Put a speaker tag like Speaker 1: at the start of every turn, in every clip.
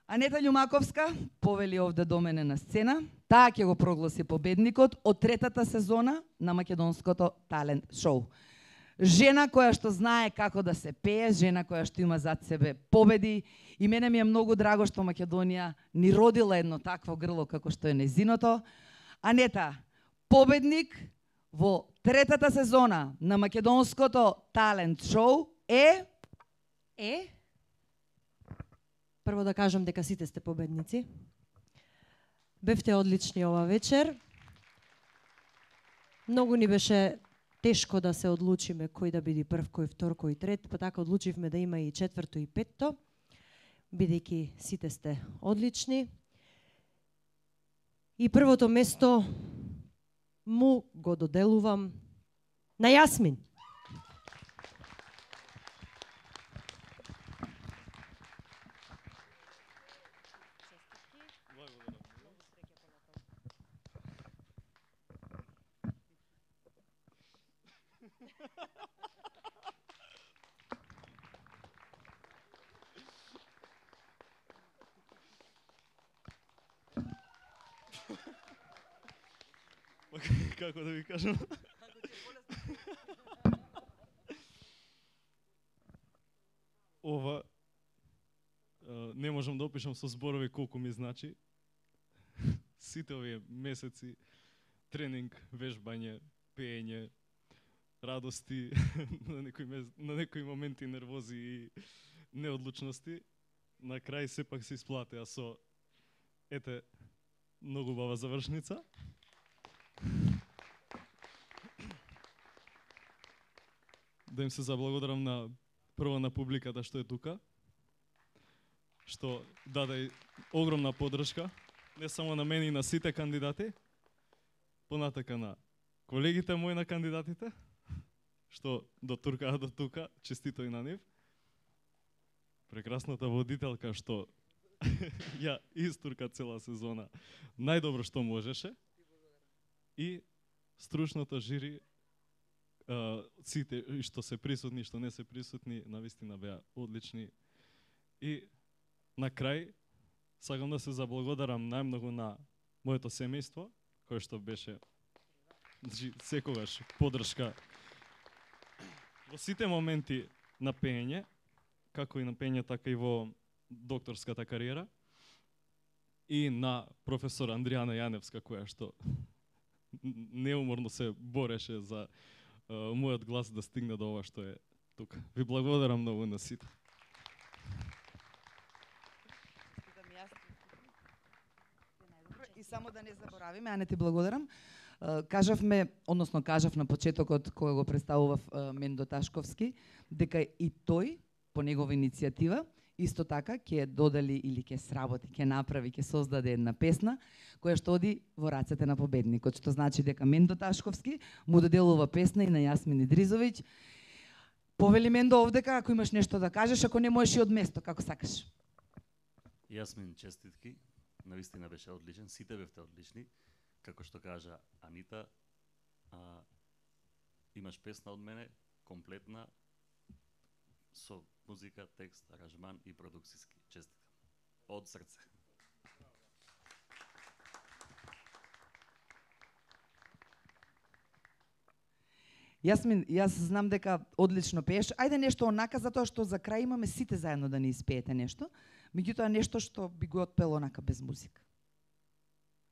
Speaker 1: Анета Љумаковска повели овде до мене на сцена. Таа ќе го прогласи победникот од третата сезона на македонското талент шоу. Жена која што знае како да се пее, жена која што има зад себе победи, и мене ми е многу драго што Македонија ни родила едно такво грло како што е незиното. Анета, победник во третата сезона на македонското талент шоу е...
Speaker 2: Прво да кажам дека сите сте победници. Бевте одлични ова вечер. Многу ни беше тешко да се одлучиме кој да биде прв, кој втор, кој трет, па така одлучивме да има и четврто и петто, бидејќи сите сте одлични. И првото место му го доделувам на Јасмин.
Speaker 3: Како да ви кажам? Ова не можам да опишам со зборови колку ми значи. Сите овие месеци тренинг, вежбање, пеење, радости, на некои моменти нервози и неодлучности, на крај сепак се исплатеа со ете многу бава завршница. Да им се заблагодарам на прво на публиката што е тука, што даде огромна поддршка, не само на мене и на сите кандидати, понатака на колегите мои на кандидатите, што дотуркаа до тука, честито и на нив. Прекрасната водителка што ја истурка цела сезона најдобро што можеше, и стручното жири, сите што се присутни, што не се присутни, навистина беа одлични. И на крај сакам да се заблагодарам најмногу на моето семејство, кое што беше секогаш поддршка во сите моменти на пеење, како и на пеење, така и во докторската кариера, и на професор Андријана Јаневска, која што неуморно се бореше за мојот глас да стигне до ова што е тука. Ви благодарам многу на сите.
Speaker 1: И само да не заборавиме, а не ти благодарам. Кажав на почетокот кога го представував Мендо Ташковски, дека и тој по негова иницијатива исто така ќе додели или ќе сработи, ќе направи, ќе создаде една песна која што оди во рацете на победникот, што значи дека Мендо Ташковски му доделува песна и на Јасмин Идризовиќ. Повели Мендо овдека, ако имаш нешто да кажеш, ако не можеш и од место, како сакаш.
Speaker 4: Јасмин, честитки, навистина беше одличен, сите бевте одлични, како што кажа Анита, имаш песна од мене, комплетна, со музика, текст, аранжман и продукцијски. Честитам. Од срце.
Speaker 1: Јасмин, јас знам дека одлично пееш. Ајде нешто онака, затоа што за крај имаме сите заедно да ни испеете нешто. Меѓутоа нешто што би го отпело онака без музика.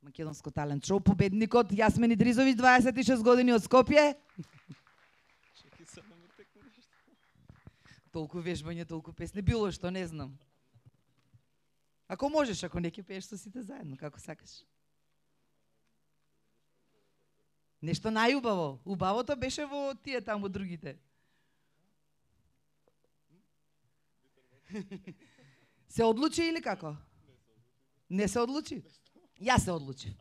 Speaker 1: Македонско талент шоу, победникот Јасмин Идризовиќ, 26 години од Скопје. Толку вежбање, толку песни, било што, не знам. Ако можеш, ако не ќе пееш со сите заедно, како сакаш. Нешто најубаво. Убавото беше во тие таму другите. Се одлучи или како? Не се одлучи? Јас се одлучив.